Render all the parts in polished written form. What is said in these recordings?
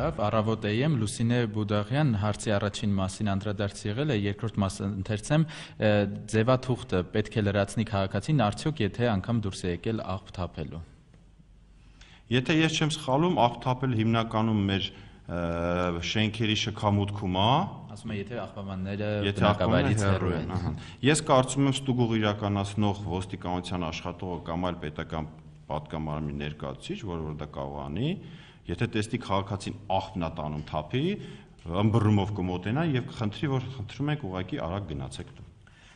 Լավ, առավոտ Լուսինե Բուդաղյան հարցի առաջին մասին անդրադարձ եղել է, երկրորդ մասը ընթերցեմ, ձևաթուղթը պետք է լրացնի քաղաքացին, արդյոք եթե անգամ դուրս է եկել աղբ թափելու։ Եթե ես չեմ սխալում, աղբ թափել հիմնականում մեր շենքերի շքամուտքում է, ասում է, եթե աղբամանները բնակավայրից հեռու են։ Ես կարծում եմ ստուգող իրականացնող ոստիկանության աշխատողը կամ այլ պետական պատգամարանի ներկայացուցիչ, որը դա կարող անի, եթե տեսնի քաղաքացին աղբն է տանում թափի, ըմբռնումով կմոտենա եւ կխնդրի, որ խնդրում եք ուղղակի արագ գնացեք դու։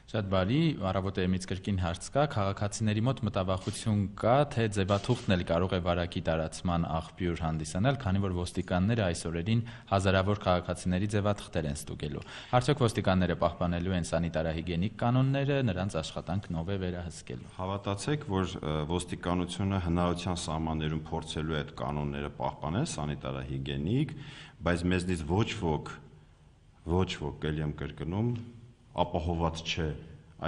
Շատ բարի, առավոտեմից կրկին հարց կա, քաղաքացիների մոտ մտավախություն կա, թե ձևաթուղթն էլ կարող է վարակի տարածման աղբյուր հանդիսանալ, քանի որ ոստիկանները այս օրերին հազարավոր քաղաքացիների ձևաթղթեր են ստուգելու։ Արդյոք ոստիկանները պահպանելու են սանիտարահիգիենիկ կանոնները, նրանց աշխատանքն ով է վերահսկելու։ Հավատացեք, որ ոստիկանությունը հնարավորության սահմաններում փորձելու է այդ կանոնները պահպանել, սանիտարահիգիենիկ, բայց մեզնից ոչ ոք, ելի եմ կրկնում, ապահոված չէ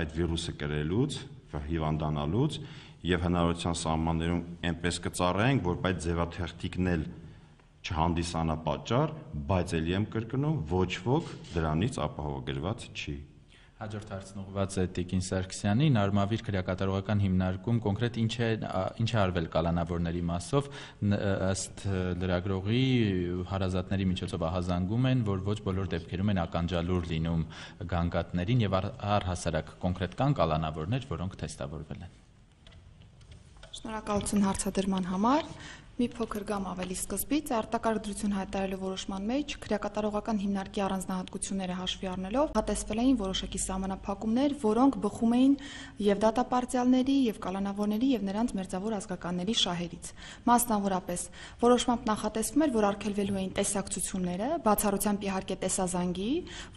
այդ վիրուսը կրելուց, հիվանդանալուց եւ հնարավորության սահմաններում այնպես կծառայենք, որ այդ ձևաթղթիկն էլ չհանդիսանա պատճառ, բայց ելի եմ կրկնում, ոչ ոք դրանից ապահովագրված չի։ Հաջորդ հարցն ուղղված է Տիկին Սարգսյանին, Արմավիր քրեակատարողական հիմնարկում կոնկրետ ինչ է արվել կալանավորների մասով, ըստ լրագրողի հարազատների միջոցով ահազանգում են, որ ոչ բոլոր դեպքերում են ականջալուր լինում գանգատներին եւ առհասարակ կոնկրետ կան կալանավորներ, որոնք թեստավորվել են։ Շնորհակալություն հարցադրման համար։ Մի փոքր գամ ավելի սկզբից, արտակարգ դրություն հայտարարելու որոշման մեջ քրեակատարողական հիմնարկի առանձնահատկությունները հաշվի առնելով հատեսվել էին որոշակի սահմանափակումներ, որոնք բխում էին եւ դատապարտյալների, եւ կալանավորների, եւ նրանց մերձավոր ազգականների շահերից։ Մասնավորապես, որոշմամբ նախատեսվում էր, որ արգելվելու էին տեսակցությունները, բացառությամբ իհարկե տեսազանգի,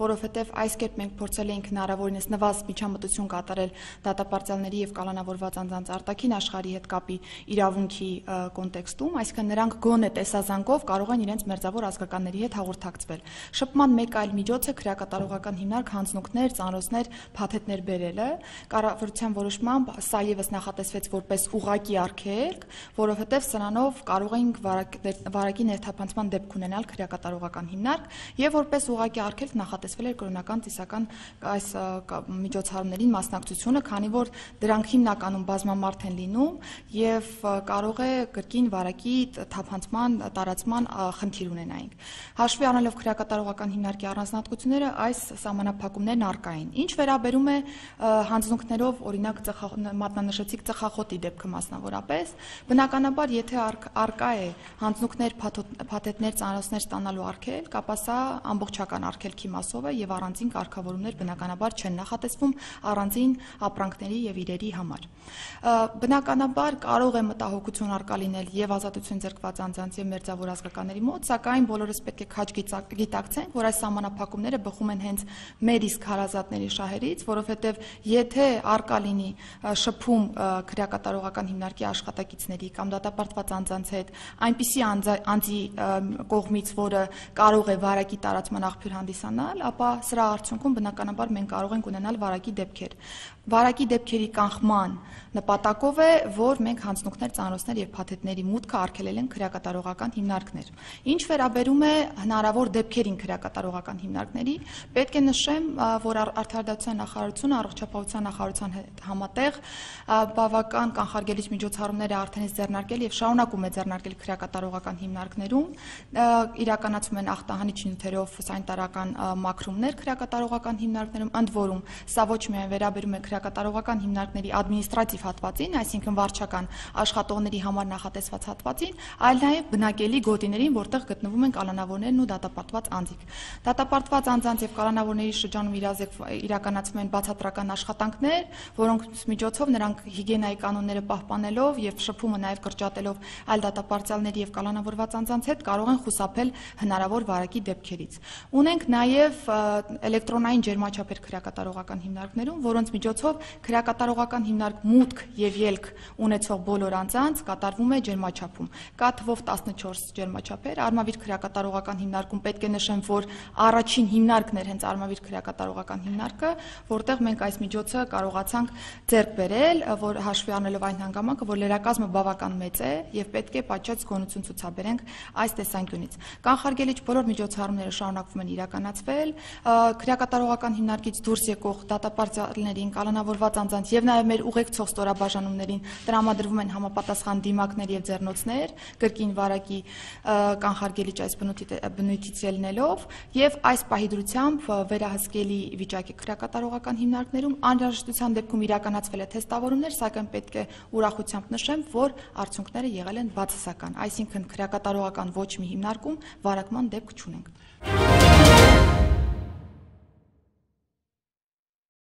որովհետեւ այս կերպ մենք փորձել էինք հնարավորինս նվազդ միջամտություն կատարել դատապարտյալների եւ կալանավորված անձանց արտաքին աշխարհի հետ կապի իրավունքի կոնտեքստում, այսինքն նրանք գոնե տեսազանգով կարող են իրենց մերձավոր ազգականների հետ հաղորդակցվել։ Շփման մեկ այլ միջոց է քրեակատարողական հիմնարկ հանձնունքներ, ծանրոցներ, փաթեթներ բերելը, կառավարության որոշմամբ սա եւս նախատեսվեց որպես ուղղակի արգելք, որովհետեւ սրանով կարող էինք վարակի ներթափանցման դեպք ունենալ քրեակատարողական հիմնարկ եւ որպես ուղղակի արգելք նախատեսվել էր կրոնական ծիսական այս միջոցառումներին մասնակցությունը, քանի որ դրանք հիմնականում բազմամարդ են լինում եւ կարող է կրկին վարակի թափանցման տարածման խնդիր ունենայինք։ Հաշվի առնելով քրեակատարողական հիմնարկի առանձնահատկությունները, այս սահմանափակումներն առկա են։ Ինչ վերաբերում է հանձնունքներով, օրինակ մատնանշեցիք ծխախոտի դեպքը մասնավորապես, բնականաբար եթե առկա է հանձնունքներ, փաթեթներ, ծանրոցներ ստանալու արգելք, ապա սա ամբողջական արգելքի մասով է եւ առանձին կարգավորումներ բնականաբար չեն նախատեսվում առանձին ապրանքների եւ իրերի համար։ Բնականաբար կարող է մտահոգություն առկա լինել եւ ազատություն ձեռքված անձանց եւ մերձավոր ազգականների մոտ, սակայն բոլորս պետք է քաջ գիտակցենք, որ այս սահմանափակումները բխում են հենց մեր իսկ հարազատների շահերից, որովհետեւ եթե առկա լինի շփում քրեակատարողական հիմնարկի աշխատակիցների կամ դատապարտված անձանց հետ, այնպիսի անձի կողմից, որը կարող է վարակի տարածման աղբյուր հանդիսանալ, ապա սրա արդյունքում բնականաբար մենք կարող ենք ունենալ վարակի դեպքեր։ Վարակի դեպքերի կանխման նպատակով է, որ մենք հանձնունքներ, ծանրոցներ եւ փաթեթների մուտքը արգելել են քրեակատարողական հիմնարկներ։ Ինչ վերաբերում է հնարավոր դեպքերին քրեակատարողական հիմնարկների, պետք է նշեմ, որ Արդարադատության նախարարությունը առողջապահության նախարարության հետ համատեղ բավական կանխարգելիչ միջոցառումներ է արդեն ձեռնարկել եւ շարունակում է ձեռնարկել քրեակատարողական հիմնարկներում, իրականացում են ախտահանիչ նյութերով սանիտարական մաքրումներ քրեակատարողական հիմնարկներում, ընդ որում սա ոչ միայն վերաբերում է քրեակատարողական հիմնարկների ադմինիստրատիվ հատվածին, այսինքն վարչական աշխատողների համար նախատեսված հատվածին, այլ նաև բնակելի գոտիներին, որտեղ գտնվում են կալանավորներն ու դատապարտված անձիկ։ Դատապարտված անձանց եւ կալանավորների շրջանում իրականացվում են բացատրական աշխատանքներ, որոնց միջոցով նրանք հիգիենայի կանոնները պահպանելով եւ շփումը նաև կրճատելով այլ դատապարտյալների եւ կալանավորված անձանց հետ կարող են խուսափել հնարավոր վարակի դեպքերից։ Ունենք նաև էլեկտրոնային ջերմաչափեր քրեակատարողական հիմնարկներում, որոնց միջոցով միջոցով քրեակատարողական հիմնարկ մուտք եւ ելք ունեցող բոլոր անձանց կատարվում է ջերմաչափում։ Կա թվով 14 ջերմաչափեր, Արմավիր քրեակատարողական հիմնարկում պետք է նշեմ, որ առաջին հիմնարկն էր հենց Արմավիր քրեակատարողական հիմնարկը, որտեղ մենք այս միջոցը կարողացանք ձեռք բերել, որ հաշվի առնելով այն հանգամանքը, որ լրակազմը բավական մեծ է եւ պետք է պատշաճ զգոնություն ցուցաբերենք այս տեսանկյունից։ Կանխարգելիչ բոլոր միջոցառումները շարունակվում են իրականացվել, քրեակատարողական հիմնարկից դուրս եկող դատապարտյալներին, կալանավորված անձանց եւ նաեւ մեր ուղեկցող ստորաբաժանումներին տրամադրվում են համապատասխան դիմակներ եւ ձեռնոցներ, կրկին վարակի կանխարգելիչ այս բնույթից ելնելով եւ այս պահի դրությամբ վերահսկելի վիճակի քրեակատարողական հիմնարկներում անհրաժեշտության դեպքում իրականացվել է թեստավորումներ, սակայն պետք է ուրախությամբ նշեմ, որ արդյունքները եղել են բացասական, այսինքն քրեակատարողական ոչ մի հիմնարկում վարակման դեպք չունենք։